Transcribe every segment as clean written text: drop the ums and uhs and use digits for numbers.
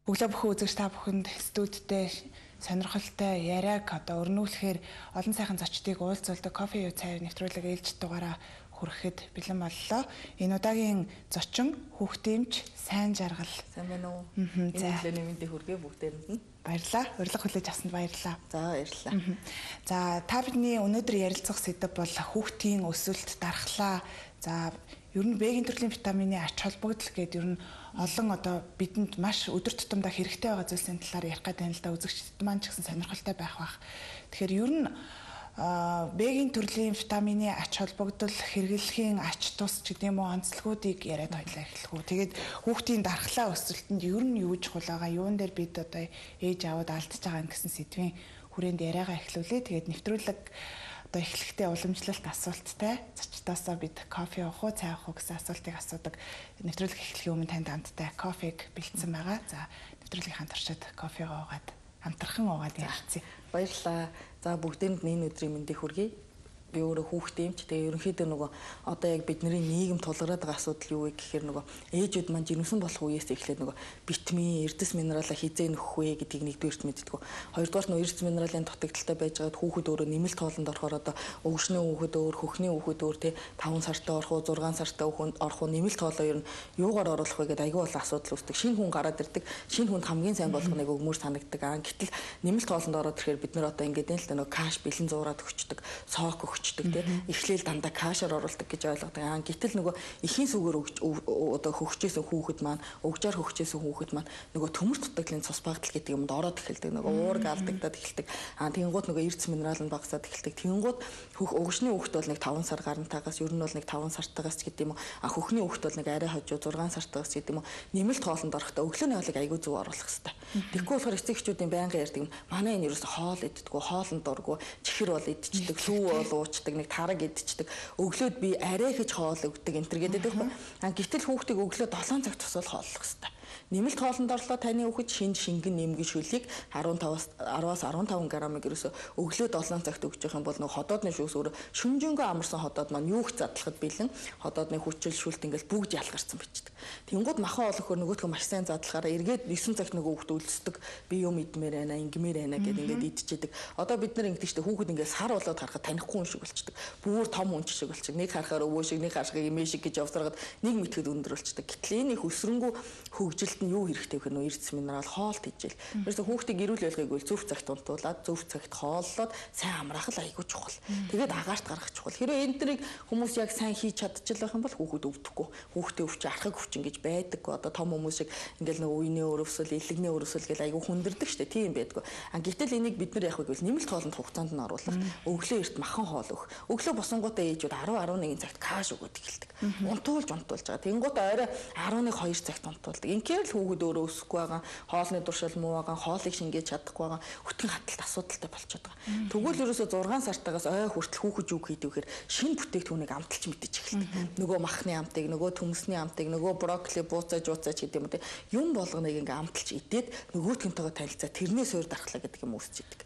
Өглөө бүхэн үзэгч та бүхэнд студидтэй сонирхолтой яриаг одоо өрнүүлэхээр олон сайхан зочдыг уулзуулдаг кофе юу цайр нэвтрүүлэг ээлж дугаараа хүрэхэд бэлэн боллоо. Энэ удаагийн зочин хүүхдэмч сайн жаргал. Сайн байна уу? Энэ өглөөний мэндийг хүргэе бүгдээрэнд нь. Баярлалаа. Урилга хүлээж авсанд баярлалаа. За баярлалаа. За та бидний өнөөдөр ярилцах сэдэв бол хүүхдийн өсөлт, дархлаа. За ер нь Б-ийн төрлийн витамины ач холбогдол гэдэг ер нь олон одоо бидэнд маш өдөр тутамдаа хэрэгтэй байгаа зүйлсийн талаар ярих гэдэг нь л да үзэгчдэд маань ч гэсэн сонирхолтой байх бах. Тэгэхээр ер нь Б-ийн төрлийн витамины ач холбогдол хэрэглэхийн ач тус ч гэдэг юм уу онцлогуудыг яриад хоёлаа эхлэх үү. Тэгээд хүүхдийн дархлаа өсөлтөнд ер нь юу чухал байгаа, юун дээр бид одоо ээж аваад алдаж байгаа гэсэн сэдвийн хүрээнд яриагаа эхлүүлээ. Тэгээд нэвтрүүлэг одоо эхлэхдээ уламжлалт асуулттай зочдоосоо бид кофе уух уу, цай уух уу гэсэн асуултыг асуудаг. Нэвтрүүлэг эхлэхийн өмнө танд амттай кофег бэлдсэн байгаа. За нэвтрүүлгийн хамт оршид кофегаа уугаад хамтран уугаад ярилцъя. Баярлалаа. За бүгдээнд энэ өдрийн мэндийг хүргэе. Би өөрөө хүүхдэмч. Тэгээ ерөнхийдөө нөгөө одоо яг бидний нийгэм тулгараад байгаа асуудал юу вэ гэхээр нөгөө ээжүүд маань жирэмсэн болох үеэс эхлээд нөгөө витамин, эрдэс минералаа хизээ нөхөх вэ гэдгийг нэгдүгээрт мэддэг. Хоёрдугаар нь эрдэс минералын дутагдaltaй байж байгаад хүүхэд өөрөө нэмэлт хоолнд орохоор одоо өвгшний хүүхэд өөр, хөхний хүүхэд өөр тий 5 сартай орох уу, 6 сартай орох уу нэмэлт хоолоо ер нь юугаар оруулах вэ гэдэг аюул асуудал үүсдэг. Шинэ хүн гараад ирдэг. Шинэ хүнд хамгийн сайн болох нэг өгмөр санагддаг. Гэтэл нэмэлт хоолнд ороод ирэхээр бид нар одоо ингээд л нөгөө каш бэлэн зуураад өгчдөг, соок эхлээл дандаа кашаар оруулдаг гэж ойлгодог. Гэтэл нөгөө эхийн сүгээр одоо хөгжижсэн хүүхэд маань, өгжаар хөгжижсэн хүүхэд маань нөгөө төмөр дутагдлын цус багтал гэдэг юмд ороод эхэлдэг. Нөгөө уург алдагдаад эхэлдэг. Тэгэнгუთ нөгөө эрдэс минерал нь багасаад эхэлдэг. Тэгэнгуთ өгшний хүүхэд бол нэг 5 сар гарантаагаас ер нь бол нэг 5 сартаагаас гэдэг юм уу. Хөхний хүүхэд бол нэг арай хожуу 6 сартаагаас гэдэг юм уу. Нэмэлт хоолнд орохдоо өглөөний хоолыг аягүй зөв оруулах хэрэгтэй. Тэгэхгүй болохоор эцэг эхчүүдийн байнга ярьдаг юм. Манай энэ ерөөсө хоол иддэггүй, хоолнд дурггүй, чихэр бол идчихдэг, лүү бол нэг тараг идчихдэг. Өглөөд би арай хийж хоол өгдөг энэ төр гэдэг байхгүй. Гэтэл хүүхдийг өглөө 7 цагт тусвал хооллох хэрэгтэй. Нэмэлт хоолнд орлоо таны хүүхэд шингэн нэмгэн шүлгийг 10-аас 15 грамыг ерөөсө өглөө 7 цагт өгч явах юм бол нөгөө ходоодны шүүс өөрөө шүнжэнгөө амарсан ходоод маань юу их задлахад бэлэн ходоодны хүчил шүлт ингээл бүгд ялгарсан бичдэг. Тэнгууд махан олохоор нөгөөдгөө маш сайн задлахаараа эргээд 9 цагт нөгөө хүүхэд өлсдөг. Би юм идмээр байна, ингэмээр байна гэд ингээд идчихэдэг. Одоо бид нар ингэдэг чинь хүүхэд ингээд сар болоод харахад танихгүй хүн шиг болчихдог. Бүр том хүн шиг болчихдог. Нэг харахаар өвөө шиг, нэг харахаар эмээ шиг гэж явсараад нэг мэтгэд өндөр болчихдог. Гэтэл энэ их өсрөнгөө хөгжилт нь юу хэрэгтэй вэ нөө эрдэс минерал хоол хийжэл. Тэрээс хүүхдийг эрүүл байлгыг бол зөв цагт унтуулад, зөв цагт хооллоод сайн амраах л айгүй чухал. Тэгээд агаарт гаргах чухал. Хэрэв энэ дэрийг хүмүүс яг сайн хийж чадчихлах юм бол хүүхэд өвдөхгүй. Хүүхдээ өвч архаг өвчин гэж байдаг. Одоо том хүмүүс шиг ингээл нэг үений өрөвсөл, илэгний өрөвсөл гэл айгүй хүндэрдэг штэ. Тийм байдгүй. Гэтэл энийг бид нар яах вэ гэвэл нэмэлт хоолнд хугацаанд нь оруулах. Өглөө эрт махан хоол өгөх. Өглөө босонгуудаа ээжүүд 10-11 цагт каш өгöd эхэлдэг. Унтуулж байгаа. Тэнгууд орой 11-2 цагт унтуулдаг. Инхээр л хүүхэд өөрөө өсөхгүй байгаа, хоолны туршил муу байгаа, хоолыг шингээж чадахгүй байгаа, хөтгөн хаталт асуудалтай болчиход байгаа. Тэгвэл ерөөсө 6 сартаагаас ой хүртэл хүүхэд юу хийдэг вэхээр шинэ бүтээгдэхүүнийг амталж мэдэж эхэлдэг. Нөгөө махны амтыг, нөгөө төмөсний амтыг, нөгөө брокколи бууцааж гэдэг юм уу юм болгоныг ингээ амталж идээд нөгөөтгөнтэйгээ танилцаа тэрнээс өөр дархлаа гэдэг юм үүсч идэг.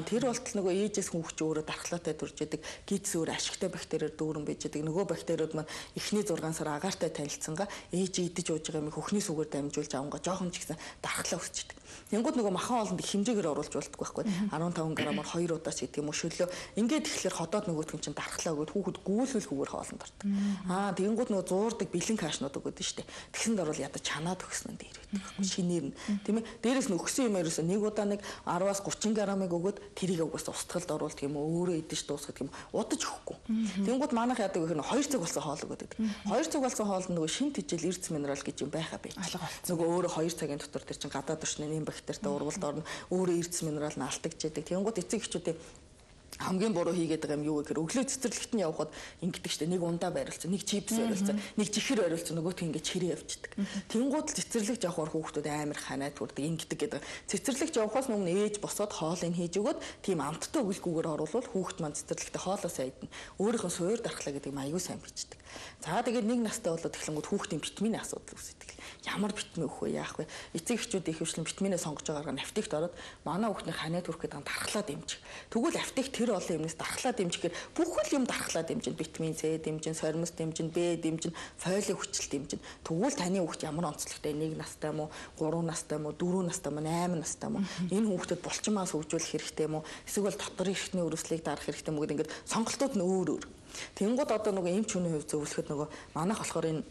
Тэр болтол нөгөө ээжээс хүүхч өөрөө дархлаатай төрж идэг, гидс өөр ашигтай бактериэр дүүрэн байж идэг. Нөгөө бактериуд маань эхний 6 сар агаартай танилцсангаа ээж идэж ууж байгаа юм хөхний сүгээр дамжуулж авангаа жоохон ч гэсэн дархлаа өсч идэг. Тэнгууд нөгөө махан хоолнд их хэмжээгээр оруулж болтгүй байхгүй. 15 грамаар 2 удаас гэдэг юм уу шөлөө. Ингээд тэгэхээр ходоод нөгөөтгөн чинь дархлаа өгөөд хүүхэд гүүлүүлэхгүйгээр хоолнд ордог. Тэнгууд нөгөө зуурдаг бэлэн кашнууд өгöd нь штэ. Тэгсэнд орвол ядаж чанаад өгсөн нь дээр байдаг байхгүй. Шинээр нь тийм ээ. Дээрээс нь өгсөн юм ерөөсөө нэг удаа нэг 10-аас 30 грамыг өгөөд тэрийг угаас устгалд оруулдаг юм уу өөрөө идэж дуусгах юм удаж өгөхгүй. Тэнгууд манайх яадаг вэ гэхээр 2 цаг болсон хоол өгöd байдаг. 2 цаг болсон хоолнд нөгөө шин тэжээл эрдэс минерал гэж юм байхаа байж. Нөгөө өөрөө 2 цагийн дотор тэр чинь гадаад орчны нэм бактеритай урвалд орно. Өөрөө эрдэс минерал нь алдагдж яадаг. Тэнгууд эцэг эхчүүдийн хамгийн буруу хийгээд байгаа юм юу гэхээр өглөө цэцэрлэгт нь явхад ингэдэг штэ нэг ундаа байрлцсан, нэг чипс байрлцсан, нэг чихэр байрлцсан, нөгөөт ингэ чирээ явчихдаг. Тэнгууд л цэцэрлэгт явхаар хүүхдүүд амар ханаад хүрдэг ингэдэг гэдэг. Цэцэрлэгт явхаас өмнө ээж босоод хоолыг хийж өгöd тийм амттай өгөлгүйгээр оруулвал хүүхд маань цэцэрлэгтээ хоолоо сайдна. Өөрийнхөө суур дархлаа гэдэг аюу сайн бичдэг. За тэгээд нэг настай болоод эхлэнгүүд хүүхдийн витамины асуудал үүсдэг. ямар витамин өгөх вэ, яах вэ? Эцэг эхчүүд их хвшлэн витаминээ сонгож байгаагаар нафтигт ороод манай хүүхний ханиад хүрэх гэдэг дархлаа дэмжих. Тэгвэл нафтиг тэр олон юмнаас дархлаа дэмжихээр бүх л юм дархлаа дэмжин, витамин С дэмжин, сормос дэмжин, Б дэмжин, фолийн хүчил дэмжин. Тэгвэл таны хүүхд ямар онцлогтой 1 настай юм уу, 3 настай юм уу, 4 настай юм уу, 8 настай юм уу? Энэ хүүхдэд булчин маас хөгжүүлэх хэрэгтэй юм уу? Эсвэл дотор эрхтний өрөвслийг дарах хэрэгтэй юм уу гэдэг ингээд сонголтууд нь өөр өөр. Тэнгууд одоо нөгөө эмч хүний хувьд зөвлөхөд нөгөө манайх болохоор энэ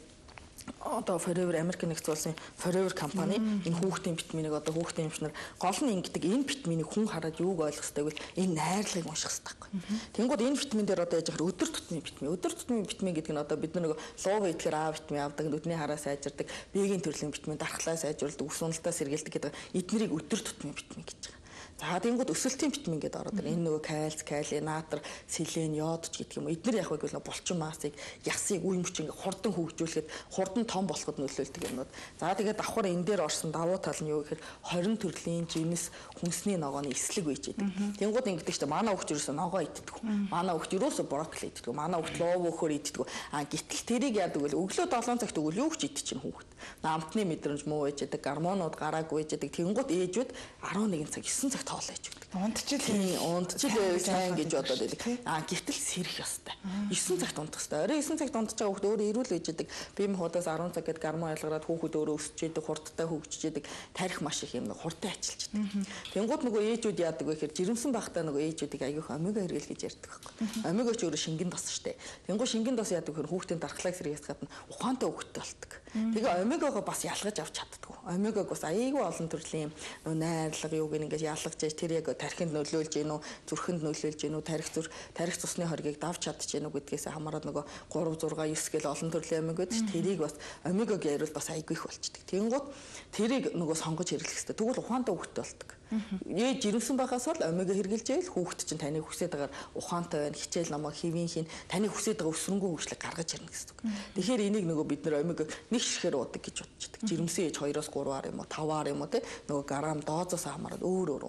одоо Forever American нэгдсэн улсын Forever компани энэ хүүхдийн витаминыг одоо хүүхдийн эмчнэр гол нь ингэдэг энэ витаминыг хүн хараад юуг ойлгох ёстой вэ? Энэ найрлагыг унших ёстой байхгүй. Тэнгууд энэ витамин дээр одоо яаж яхаар өдөр тутмын витамин. Өдөр тутмын витамин гэдэг нь одоо бид нэг луу идэхээр А витамин авдаг, нүдний хараа сайжирдаг, Б-ийн төрлийн витамин дархлаа сайжруулдаг, ус уналтаа сэргийлдэг гэдэг эднэрийг өдөр тутмын витамин гэж байгаа. За тэнгууд өсөлтийн витамин гэдэг ороод байна. Энэ нөгөө кальц, калий, натр, селен, йод ч гэдэг юм уу. Эдгээр яг байвал булчин маасыг, ясыг, үе мөч ингээ хурдан хөгжүүлэхэд, хурдан том болоход нөлөөлдөг юмнууд. За тэгээд давхар энэ дээр орсон давуу тал нь юу гэхээр 20 төрлийн жимс хүнсний ногооны эслэг байж байдаг. Тэнгууд ингэдэг чинь манай хүүхд ерөөсөө ногоо иддэг. Манай хүүхд ерөөсөө брокколи иддэг. Манай хүүхд лоо өөхөр иддэг. Гэтэл тэрийг яадаг вэ? Өглөө 7 цагт өгвөл юу ч идчихэв хүүхд. Амтны мэдрэмж муу байж байдаг, гормонууд гараагүй байж байдаг. Тэнгууд ээжүүд 11 цаг 9 цагт хоолоо ээж өгдөг. Унтчил сайн гэж бодоод байдаг. Гэтэл сэрэх ёстой. 9 цагт унтах ёстой. Орой 9 цагт унтаж байгаа хүүхд өөрөө эрүүл байж байдаг. Бие махбодоос 10 цаг гээд гормон ялгараад хүүхд өөрөө өсөж байдаг, хурдтай хөгжиж байдаг. Тарих маш их юм хурдан ачилж байдаг. Тэнгууд нөгөө ээжүүд яадаг вэ гэхээр жирэмсэн байхдаа нөгөө ээжүүдийг аягүй омега хэрэгэл гэж ярьдаг байхгүй. Омега ч өөрөө шингэн дос штэ. Тэнгууд шингэн дос яадаг гэхээр хүүхдийн дархлааг сэргийлэх гадна ухаантай хүүхдтэй болдог. Тэгээ омегагаа бас ялгаж авч чаддгүй. Омегаг бас аяйгүй олон төрлийн найрлага юуг ингэж ялгаж яаж тэр яг тархинд нөлөөлж гинүү, зүрхэнд нөлөөлж гинүү, тарих цусны хоргийг давж чадж гинүү гэдгээс хамаарат нөгөө 3 6 9 гэл олон төрлийн омега гэдэг чинь тэрийг бас омегаг яриул бас аяйгүй их болчдөг. Тэнгууд тэрийг нөгөө сонгож хэрэглэх хэрэгтэй. Тэгвэл ухаантай хүүхдтэй болдог. Ээж жирэмсэн байхаас бол омега хэрглэж ийл хүүхд чинь таны хүсэж байгаа ухаантай байна, хичээл намайг хэвийн хийн, таны хүсэж байгаа өсрөнгөө хөгжлөг гаргаж ирнэ гэсэн үг. Тэгэхээр энийг нөгөө бид нэр омега нэг ширхээр уудаг гэж бодчихдаг. Жирэмсэн ээж 2-оос 3-аар юм уу, 5-аар юм уу те нөгөө грамм доозоос хамаарат өөр өөр.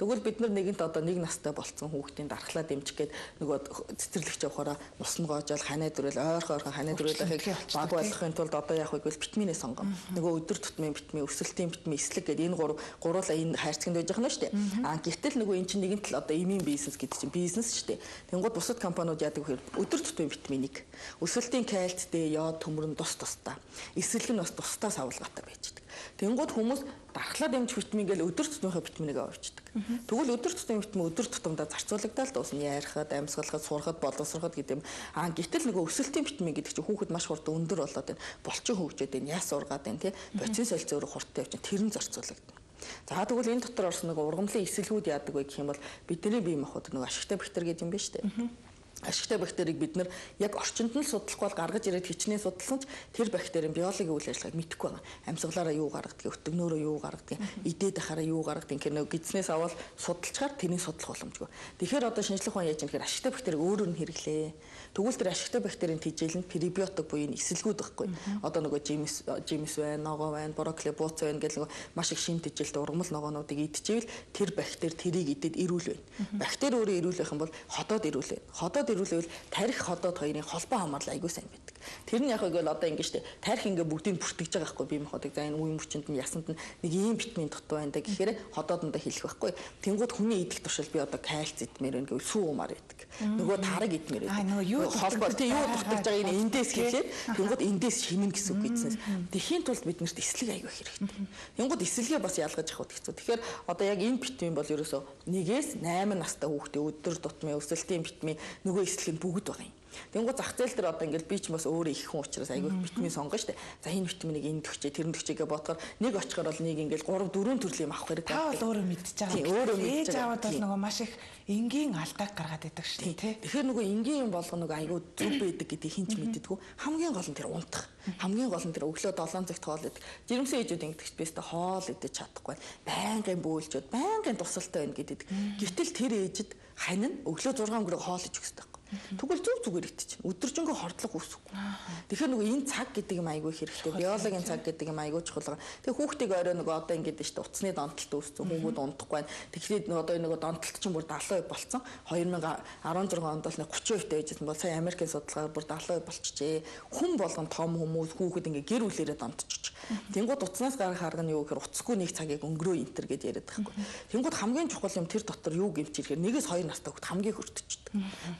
Тэгвэл бид нар нэгэнт одоо 1 настай болцсон хүүхдийн дархлаа дэмжих гээд нөгөө цэцэрлэгч явахаараа мус нь гоожол ханаа дөрөл ойрхон ханаа дөрөлөөхийг баг болгохын тулд одоо яах вэ гэвэл витаминээ сонгоно. Нөгөө өдөр тутмын витамин, өсөлтийн витамин, эслэг гэдэг энэ гуруула энэ хайрцагт байж байгаа нь шүү дээ. Гэтэл нөгөө эн чинь нэгэн тал одоо эмийн бизнес гэдэг чинь бизнес шүү дээ. Тэнгууд бусад компаниуд яадаг вэ гэхээр өдөр тутмын витаминийг өсөлтийн кальц, Д, йод, төмөр нь тусдаа. Эсрэг нь бас тусдаа савлгаатай байж байгаа. Тэнгууд хүмүүс дархлаа дэмжих витамин гэж өдөр тутмынхаа витаминыг авчдаг. Тэгвэл өдөр тутмын витамин өдөр тутамдаа зарцуулагдаад дуусна. Ярихад, амьсгалахад, сурахад, боловсроход гэдэг юм. Гэтэл нөгөө өсөлтийн витамин гэдэг чинь хүүхэд маш хурдан өндөр болоод байна. Булчин хөгжөөд байна, яс ургаад байна, тий. Боцин солилцоо өөрөө хурдтай явж байна. Тэр нь зарцуулагдана. За тэгвэл энэ дотор орсон нөгөө ургамлын эсэлгүүд яадаг вэ гэх юм бол бидний бие махбод нөгөө ашигтай бактери гэдэг юм байна шүү дээ. Ашигтай бактерийг бид нар яг орчинд нь судлахгүй бол гаргаж ирээд хичнээн судалсан ч тэр бактерийн биологийн үйл ажиллагааг мэдэхгүй байгаа. Амьсгалаараа юу гаргадаг, өтгнөөрөө юу гаргадаг, идээд ахаараа юу гаргадаг гэх нэг гидснээс аваад судалчаар тэрийг судлах боломжгүй. Тэгэхээр одоо шинжлэх ухаан яаж юм гэхээр ашигтай бактерийг өөрөөр нь хэрэглээ. Тэгвэл тэр ашигтай бактерийн тэжээл нь пребиотик буюу эсэлгүүд байхгүй. Одоо нөгөө жимс байна, ногоо байна, брокколи, бууц байна гэх нэг маш их шин тэжээлтэй ургамал ногоонуудыг идчихвэл тэр бактери тэрийг идээд эрүүл байна. Бактери өөрөө эрүүл байх юм бол ходоод эрүүл байна. Ходоод ирүүлвэл тарих ходоод хоёрын холбоо хамаарлал айгүй сайн байдаг. Тэр нь яг үгүй л одоо ингэ штэ тарих ингээ бүгдийг бүртгэж байгаа байхгүй бие махбодыг за энэ үе мөчөнд нь ясанд нь нэг ийм витамин дутуу байна да гэхээр ходоодондоо хэлэх байхгүй. Тэнгууд хүний идэх туршил би одоо кальц идмээр байна гэвэл сүү умаар байдаг. Нөгөө тараг идмээр байдаг. Нөгөө юу холбоо тий юу дутаж байгаа энэ эндээс гэхлээр тэнгууд эндээс шинэн гэсэн үг гэсэн. Тэхийн тулд биднэрт эслэг айгүй хэрэгтэй. Тэнгууд эслэгээ бас ялгаж авах хэрэгтэй. Тэгэхээр одоо яг энэ витамин бол ерөөсөө 1-ээс 8 настай хүүхдээ өдөр тутмын өсөлтийн витамин нөгөө эслэг нь бүгд байгаа юм. Тэнгууд зах зээл дээр одоо ингээл би ч бас өөрөө их хүн учраас айгүй витамин сонгоно штэ. За энэ витаминыг энд төгчээ, тэр төгчээгээ бодохоор нэг очихоор бол нэг ингээл 3 4 төрлийн юм авах хэрэг байна. Та бол өөрөө мэдчихэж байгаа. Тийм өөрөө мэдчихэж байгаа. Ээж аваад бол нөгөө маш их энгийн алдааг гаргаад байдаг штэ тий. Тэгэхээр нөгөө энгийн юм болгоно нөгөө айгүй зүв байдаг гэдгийг хинч мэддэггүй. Хамгийн гол нь тэр унтах. Хамгийн гол нь тэр өглөө 7 цагт хоол идэх. Жирэмсэн ээжүүд ингэдэг бэстэ хоол идэж чадахгүй. Байнгын бөөлжөд, байнгын тусалтай байна гэдэг. Гэтэл тэр ээжид хань нь өглөө 6 өнгөрөг хоол идэх хэрэгтэй. Тэгвэл зүгээр итчих. Өдөржингөө хордлого үүсэхгүй. Тэгэхээр нөгөө энэ цаг гэдэг юм айгүй хэрэгтэй. Биологийн цаг гэдэг юм айгүй чухал. Тэгээ хүүхдийг орой нөгөө одоо ингэдэж шүү дээ. Утасны донтолт үүссэн. Хүүхүүд унтахгүй байна. Тэгэхээр одоо нөгөө донтолт чинь бүр 70% болцсон. 2016 онд бол 30% байжсэн бол сая Америкийн судалгаагаар бүр 70% болчихжээ. Хүн болгон том хүмүүс хүүхэд ингээ гэр бүлээрээ донтчих. Тэнгууд утаснаас гарах арга нь юу гэхээр утасгүй нэг цагийг өнгөрөө энтер гэж яриад байхгүй. Тэнгууд хамгийн чухал юм тэр дотор юу гэмч ирэхээр 1-2 настай хүүхд хамгийн хөртөждөг.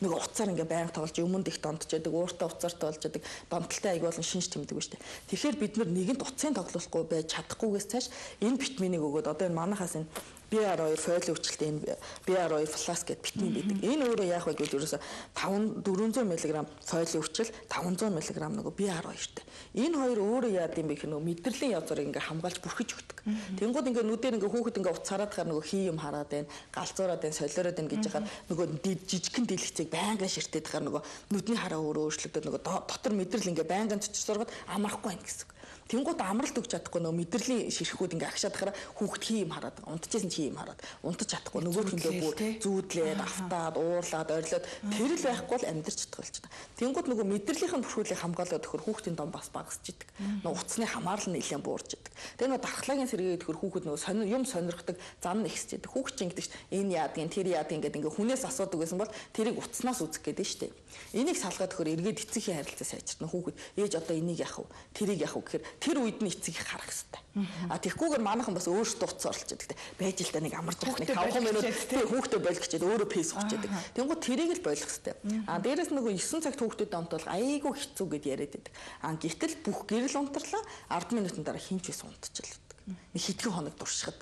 Нэг уцаар ингээ байнга тоглож өмнөд их донтчихдаг, ууртаа уцаартай болж яадаг, донтолтой аяг болон шинж тэмдэг ба штэ. Тэгэхээр бид нар нэгэнд утсын тоглохгүй байж чадахгүйгээс цааш энэ витаминыг өгөөд одоо энэ манахаас энэ BR2 фойл өвчлөлт энэ BR2 флас гэдэг витамин байдаг. Энэ өөрөө яах вэ гэвэл ерөөсө 400 мг фойл өвчл 500 мг нөгөө BR2-тэй. Энэ хоёр өөрөө яад юм бэ гэх нөгөө мэдрэлийн язуурыг ингээ хамгаалж бүрхэж өгдөг. Тэнгууд ингээ нүдээр ингээ хүүхэд ингээ уцаараад хаар нөгөө хий юм хараад байна, галзуураад байна, солиороод байна гэж байгаа нөгөө жижигхэн дэлгэцийг байнгын ширтээд хаар нөгөө нүдний хараа өөрөө өөрчлөгдөд нөгөө дотор мэдрэл ингээ байнгын цочсоргоод амрахгүй байна гэсэн. Тэнгууд амралт өгч чадахгүй нөгөө мэдрэлийн ширхүүд ингээ агшаад хараа хүүхэд хий юм хараад унтчихсэн чи юм хараад унтаж чадахгүй нөгөө хөлөө бүр зүүдлээд автаад уурлаад орилоод тэр л байхгүй бол амьдарч чадах болж байна. Тэнгууд нөгөө мэдрэлийн бүрхүүлийг хамгаалаад өгөхөр хүүхдийн дом бас багасч идэг. Нөгөө уцсны хамаарлал нэлээд буурч идэг. Тэгээ нөгөө дархлагын сэргээд өгөхөр хүүхэд нөгөө юм сонирхдаг зан нэгсэж идэг. Хүүхд чинь ингэдэг энэ яадгийн тэр яадгийн гэдэг ингээ хүнээс асуудаг гэсэн бол тэрийг уцснаас үзэх гээд нь штэ. Энийг салгаад өгөхөр эргээд эцгийн харилцаа сайжирна. Хүүхэд ээж одоо энийг яах вэ? Тэрийг яах вэ гэхээр тэр үед нь эцгийг харах хэрэгтэй. А тэгхгүйгээр манайхан бас өөрсдөө утас орлож яадаг. Байж л та нэг амарч явах нэг 5 минут тэр хүүхдээ болгочээд өөрөө пейс өгч яадаг. Тэнгууд тэрийг л болгох хэрэгтэй. А дээрэс нөгөө 9 цагт хүүхдэд амтвал айгүй хэцүү гэд яриад байдаг. А гэтэл бүх гэрэл унтарлаа 10 минутын дараа хинч биш унтчихлаа. Нэг хэдхэн хоног дуршихад.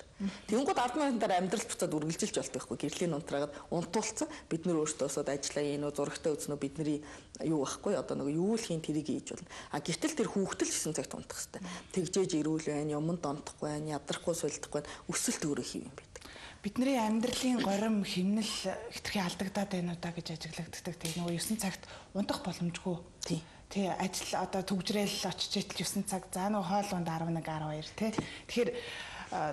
Тэнгууд 10 минутын дараа амьдрал буцаад үргэлжилж болдог байхгүй. Гэрлийн унтраагаад унтуулсан. Бид нөр өөрсдөөсөө ажиллаа энэ зурагтаа үзнэ бидний юу байхгүй одоо нэг юу л хийн тэрийг хийж болно. А гэтэл тэр хүүхдэл 9 цагт унтах хэрэгтэй. Тэгжээж ирүүл байна, юмд онтохгүй байна, ядрахгүй суулдахгүй байна. Өсөлт өөрөө хийв юм байдаг. Бидний амьдралын горим хэмнэл хэтэрхий алдагдаад байна уу да гэж ажиглагддаг. Тэгээ нөгөө 9 цагт унтах боломжгүй. Тий ажил одоо төгжрэл очиж итэл 9 цаг за нөгөө хоол унд 11 12 тий. Тэгэхээр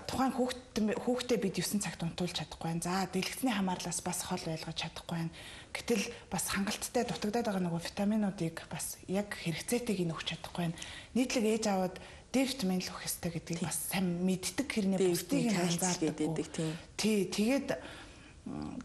тухайн хүүхдээ бид 9 цагт унтуулж чадахгүй байна. За дэлгэцний хамаарлаас бас хол байлгаж чадахгүй байна. Гэтэл бас хангалттай дутагдаад байгаа нөгөө витаминуудыг бас яг хэрэгцээтэйг нь өгч чадахгүй байна. Нийтлэг ээж аваад D витамин л өгөх ёстой гэдгийг бас сайн мэддэг хэрнээ бусдыг нь анзаардаг. Тий тэгээд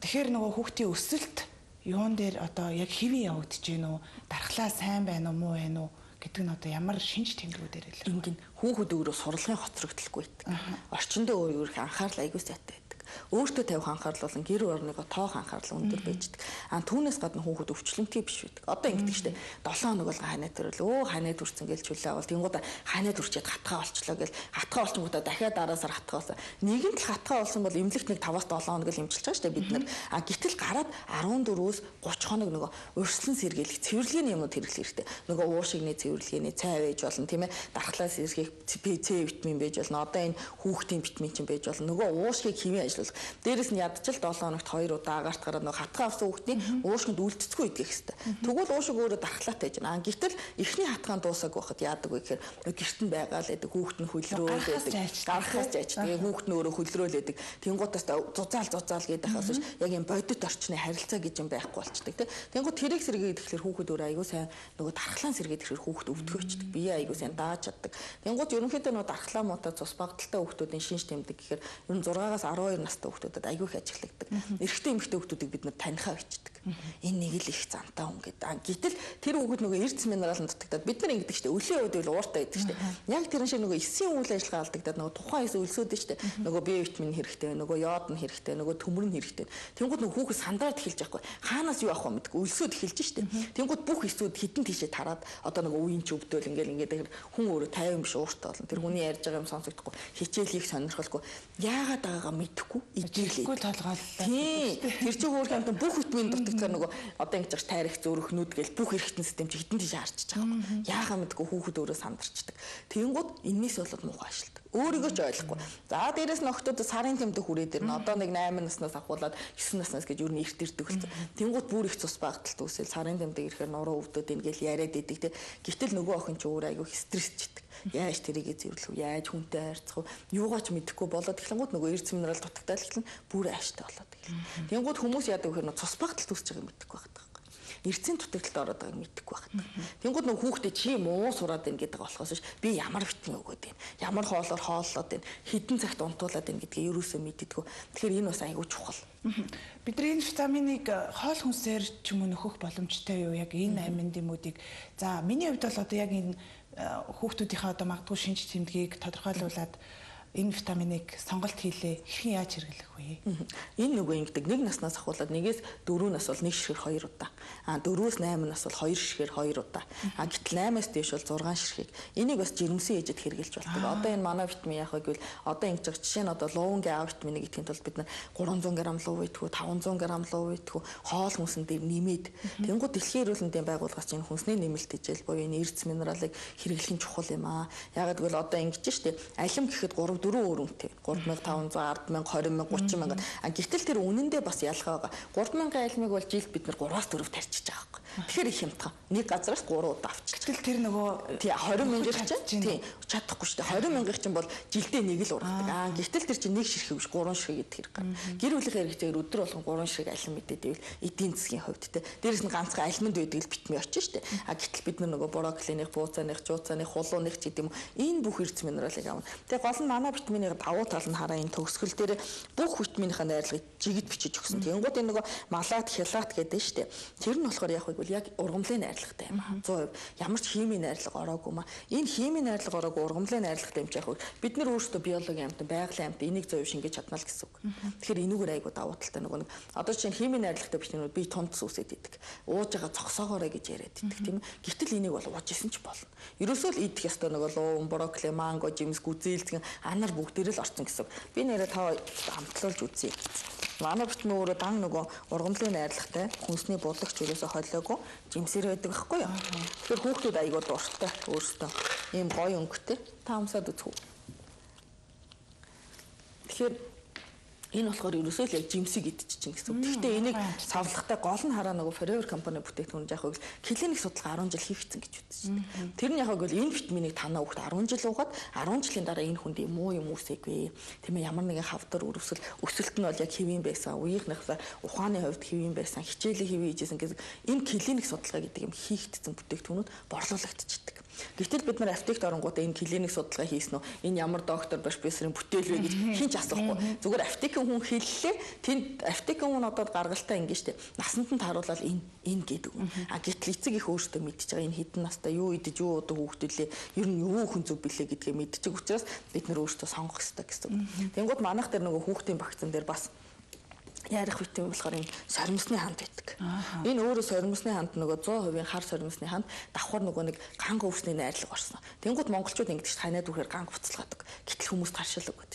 тэгэхээр нөгөө хүүхдийн өсөлт юун дээр одоо яг хэвэн явагдаж гин үү? Дархлаа сайн байна уу, муу байна уу гэдэг нь одоо ямар шинж тэмдгүүдээр илэрхийлэх. Ингээд хүүхэд өөрөө сурлагын хоцрогдолгүй байдаг. Орчиндөө өөрөө анхаарал аягүй сайтай байдаг. Өөртөө тавих анхаарал болон гэр орныгоо тоох анхаарал өндөр байждаг. Түүнээс гадна хүүхэд өвчлөмтэй биш байдаг. Одоо ингэдэг штэ 7 хоног бол ханаа төрөл ханаа төрсөн гэж чүлээ авал тэнгууд ханаа төрчээд хатгаа болчлоо гэл хатгаа болчихгоо дахиад дараасаар хатгаа болсон. Нэгэнт л хатгаа болсон бол эмнэлэгт нэг 5-7 хоног л эмчилж байгаа штэ бид нар. Гэтэл гараад 14-өөс 30 хоног нөгөө урьдчилан сэргийлэх цэвэрлэгийн юмнууд хэрэглэх хэрэгтэй. Нөгөө уушигны цэвэрлэгээний цай байж болно тийм ээ. Дархлаас сэргийлэх С витамин байж болно. Одоо энэ хүүхдийн витамин чинь байж болно. Нөгөө уушгийг хэмээн ажиллуулах. Дээрээс нь ядчил 7 хоногт 2 удаа агаарт гараад нөгөө хатгаа авсан хүүхдийн уушгинд үлдэцгүй идэх хэрэгтэй. Тэгвэл уушиг өөрөө дархлаатай байж байна. Гэтэл эхний хатгаан дуусаагүй байхад яадаг вэ гэхээр гэрт нь байгаа л байдаг. Хүүхд нь хөлрөөл байдаг. Гарахаас жаач. Тэгээ хүүхд нь өөрөө хөлрөөл байдаг. Тэнгуутаас зузаал гэдэг хаас яг юм бодит орчны харилцаа гэж юм байхгүй болчдөг тийм. Тэнгуут тэрийг сэргээд ирэхлээр хүүхэд өөрөө аягүй сайн нөгөө дархлаан сэргээд ирэхлээр хүүхэд өвдгөөчдөг. Бие аягүй сайн дааж чаддаг. Тэнгуут ерөнхийдөө нөгөө дархлаа муутай цус багталтай хүүхдүүдийн шинж тэмдэг гэхээр ер нь 6-аас 12 настай хүүхдүүдэд аягүй их ажиглагддаг. Эрэгтэй эмэгтэй хүүхдүүдийг бид нар танихаа бичдэг. Энэ нэг л их зантай хүн гэдэг. Гэтэл тэр хүүхэд нөгөө эрдэс минералын дутагдаад бид нар ингэдэг штэ өлийн үед л ууртай байдаг штэ. Яг тэр шиг нөгөө эсийн үйл ажиллагаа алдагдаад нөгөө тухайн эс өлсөд штэ. Нөгөө Б витамин хэрэгтэй, нөгөө йод нь хэрэгтэй, нөгөө төмөр нь хэрэгтэй. Тэнгууд нөгөө хүүхэд сандраад эхэлж байхгүй. Хаанаас юу авах вэ мэдгүй өлсөд эхэлж штэ. Тэнгууд бүх эсүүд хитэн тийшээ тараад одоо нөгөө үеийн ч өвдөөл ингээд хүн өөрөө 50 юм биш ууртай болно. Тэр хүний ярьж байгаа юм сонсогдохгүй. Хичээлийг сонирхолгүй. Яагаад байгаагаа мэдэхгүй ижилгүй толгойллоо. Тэр чинь хөөх юм бүх витамин дутагдсан нөгөө одоо ингэж тайрах зөрөхнүүд гэл бүх эрхтэн систем чи хитэн тийш харчихж байгаа юм. Яагаад мэдгүй хүүхэд өөрөө сандарчдаг. Тэнгууд энэс болоод муухай ажилт. Өөрийгөө ч ойлгохгүй. За дээрэс нь охтууд сарын тэмдэг хүрээд ирнэ. Одоо нэг 8 наснаас ахуулаад 9 наснаас гэж юу нэрт ирдэг болсон. Тэнгууд бүр их цус багталт үүсэл сарын тэмдэг ирэхээр нуруу өвдөд ингээл яриад идэг те. Гэтэл нөгөө охин ч өөр айгүй стрессчдэг. Яаж тэрийгэ зэвэрлэх вэ? Яаж хүнтэй харьцах вэ? Юугаач мэдэхгүй болоод эхлэнгууд нөгөө эрдэс минерал дутагдаад эхлэн бүр ааштай болоод эхэлнэ. Тэнгууд хүмүүс яадаг вэ гэхээр цус багталт үүсэж байгааг мэдэхгүй байна. эрдцийн дутагдлалд ороод байгааг мэдэхгүй байна. Тэнгууд нөгөө хүүхдээ чи муу сураад байна гэдэг болохоос биш би ямар витамин өгөөд байна. Ямар хоолоор хооллоод байна. Хэдэн цагт унтуулад байна гэдгийг ерөөсөө мэддэггүй. Тэгэхээр энэ бас айгүй чухал. Бидний энэ витаминыг хоол хүнсээр ч юм уу нөхөх боломжтой юу яг энэ амин дэмүүдийг. За миний хувьд бол одоо яг энэ хүүхдүүдийнхээ одоо магадгүй шинж тэмдгийг тодорхойлуулад энэ витаминыг сонголт хийлээ. Хэрхэн яаж хэрэглэх вэ? Энэ нөгөө ингэдэг 1 наснаас ахуулаад 1-ээс 4 нас бол 1 ширхэг 2 удаа. 4-өөс 8 нас бол 2 ширхэг 2 удаа. Гэтэл 8-аас дээш бол 6 ширхэг. Энийг бас жирэмсэн ээжэд хэрэглэж болдог. Одоо энэ манай витамин яах вэ гэвэл одоо ингэж байгаа жишээ нь одоо лувангийн А витаминыг идэхин тулд бид 300 г лув идэх, 500 г лув идэх, хоол хүнсэн дээр нэмээд тэнгууд дэлхийн эрүүл мэндийн байгууллагаас энэ хүнсний нэмэлт хичээл буюу энэ эрдэс минералыг хэрэглэх нь чухал юм аа. Ягаад гэвэл одоо ингэж штэ алим гэхэд 3-4 өөр үнэтэй. 3500, 10,000, 20,000, 30,000. Гэтэл тэр үнэндээ бас ялгаа байгаа. 3,000 алимыг бол жилд бид 3-аас 4 тарьчихж байгаа байхгүй. Тэгэхээр их хямдхан. Нэг газараас 3 удаа авчиж. Гэтэл тэр нөгөө 20,000 чинь чадахгүй шүү дээ. 20,000 чинь бол жилдээ нэг л ургадаг. Гэтэл тэр чинь нэг ширхэг биш 3 ширхэг идэх хэрэг гарна. Гэр бүлийн хэрэгцээгээр өдөр болгон 3 ширхэг алим мэдээд ивэл эдийн засгийн хувьд те. Дээрээс нь ганцхан алимд байдаг л битми очиж штэ. Гэтэл бид нөгөө брокколиных, бууцааных, жууцааных, хулууных ч гэдэм энэ бүх эрдэс минералыг авна. Тэгээ гол нь манай витамины давуу тал нь хараа энэ төгсгөл дээр бүх витаминыхаа найрлагыг жигд бичиж өгсөн. Тэнгууд энэ нөгөө малат, хялат гэдэг нь штэ. Тэр нь болохоор яг үгүй яг ургамлын найрлагатай юм аа. 100% ямар ч химийн найрлага ороогүй маа. Энэ химийн найрлага ороогүй ургамлын найрлагатай юм ч яг үгүй. Бид нар өөрсдөө биологийн амьтан, байгалийн амьтан энийг 100% шингээж чадна л гэсэн үг. Тэгэхээр энүүгээр айгуу давуу талтай нөгөө одоо чинь химийн найрлагатай бичнүүд би тунц үсээд идэг. Ууж байгаа цогсоогоорой гэж яриад идэг тийм ээ. Гэтэл энийг бол ууж исэн ч болно. Ерөөсөө л идэх ёстой нөгөө луун, брокколи, манго, жимс, гүзээлзгэн анар бүгдээрээ л орсон гэсэн. Би нэрээ та хамтлуулж үзье. Манай витамин өөрөө дан нөгөө ургамлын найрлагатай хүнсний буллагч ерөөсө холиогүй жимсээр байдаг байхгүй юу. Тэгэхээр хүүхдүүд айгуу дуртай өөрсдөө ийм гоё өнгөтэй та амсаад үзв. Тэгэхээр энэ болохоор ерөөсөө л яг жимсийг идчихэж чинь гэсэн үг. Гэхдээ энийг савлахтай гол нь хараа нөгөө Forever компани бүтээгдэхүүн яг хөө клиник судалгаа 10 жил хийгдсэн гэж үзсэн. Тэр нь яг хөө энэ витаминыг танаа хүүхд 10 жил угаад 10 жилийн дараа энэ хүнд муу юм үсэйгүй. Тийм ээ ямар нэгэн хавдар өрөвсөл өсөлт нь бол яг хэвийн байсан. Үеийнхнийхээ ухааны хувьд хэвийн байсан. Хичээлийн хэвийн хийжсэн гэсэн энэ клиник судалгаа гэдэг юм хийгдсэн бүтээгдэхүүнүүд борлуулагдчихдаг. Гэтэл бид нар аптект оронгуудаа энэ клиник судалгаа хийсэн үү? Энэ ямар доктор профессорын бүтээл вэ гэж хинч асуухгүй. Зүгээр аптекийн хүн хэллээ. Тэнд аптекийн хүн одоо гаргалтаа ингэ штэ. Насанд нь тааруулаад энэ гэдэг. Гэтэл эцэг их өөртөө мэдчихэж байгаа энэ хідэн настай юу идэж юу удаа хүүхдүүлээ. Ер нь юу хүн зөв билээ гэдгээ мэдчих учраас бид нар өөртөө сонгох хэрэгтэй гэсэн. Тэнгууд манайх дээр нөгөө хүүхдийн вакцин дээр бас ярих витамин болохоор энэ соримсны ханд байдаг. Энэ өөрөө соримсны ханд нөгөө 100% хар соримсны ханд давхар нөгөө нэг ганг өвсний найрлага орсон. Тэнгууд монголчууд ингэж танаад үхээр ганг буцалгадаг. Гэтэл хүмүүс таршил өгöd.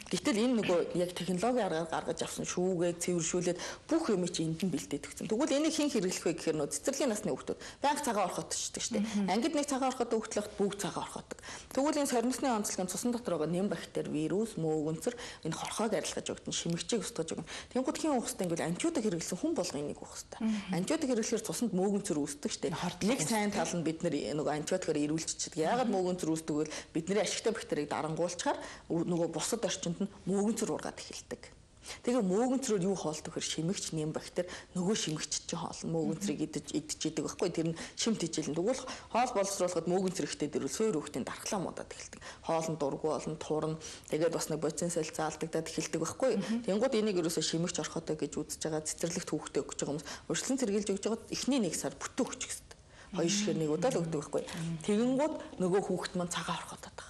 Гэтэл энэ нөгөө яг технологи аргаар гаргаж авсан шүүгээ цэвэршүүлээд бүх юм чи энд нь бэлдээд өгсөн. Тэгвэл энийг хэн хэрэглэх вэ гэхээр нөө цэцэрлэгийн насны хүүхдүүд байнга цагаан орхот шүү дээ. Ангид нэг цагаан орхот хүүхдлэхт бүгд цагаан орхотдаг. Тэгвэл энэ соримсны онцлогийн цусан дотор байгаа нэм бактери, вирус, мөөгөнцөр энэ хорхоог арилгаж өгдөн, шимэгчийг устгаж өгнө. Тэнгууд хэн уухстай ингээл антибиотик хэрэглэсэн хүн болго энийг уах хэрэгтэй. Антибиотик хэрэглэхээр цуснд мөөгөнцөр үүсдэг шүү дээ. Нэг сайн тал нь бид нөгөө антибиотикаар ирүүлчихдэг. Яагаад мөөгөнцөр үүсдэг вэ? Бидний ашигтай бактерийг дарангуулчаар нөгөө бусад орчинд нь мөөгөнцөр ургаад эхэлдэг. Тэгээ мөөгөнцрөөр юу хоолдог хэр шимэгч нэм бактери нөгөө шимэгч чинь хоолно мөөгөнцрийг идчихэдэг байхгүй тэр нь шимт хичээлэн тэгвэл хоол боловсруулахад мөөгөнцөр ихтэй дэрвэл суур хүүхдийн дархлаа муудаад эхэлдэг. Хоол нь дургу болно турна тэгээд бас нэг боцин сэл заалдагдаад эхэлдэг байхгүй. Тэнгууд энийг ерөөсөө шимэгч орхотой гэж үзэж байгаа цэцэрлэгт хүүхдээ өгч байгаа хүмүүс урьдчилан цэргийлж өгч байгаа эхний нэг сар бүтэн өгч гэсэн. Хоёр шигээр нэг удаа л өгдөг байхгүй. Тэгэнгүүт нөгөө хүүхд маань цагаан орхотод байгаа.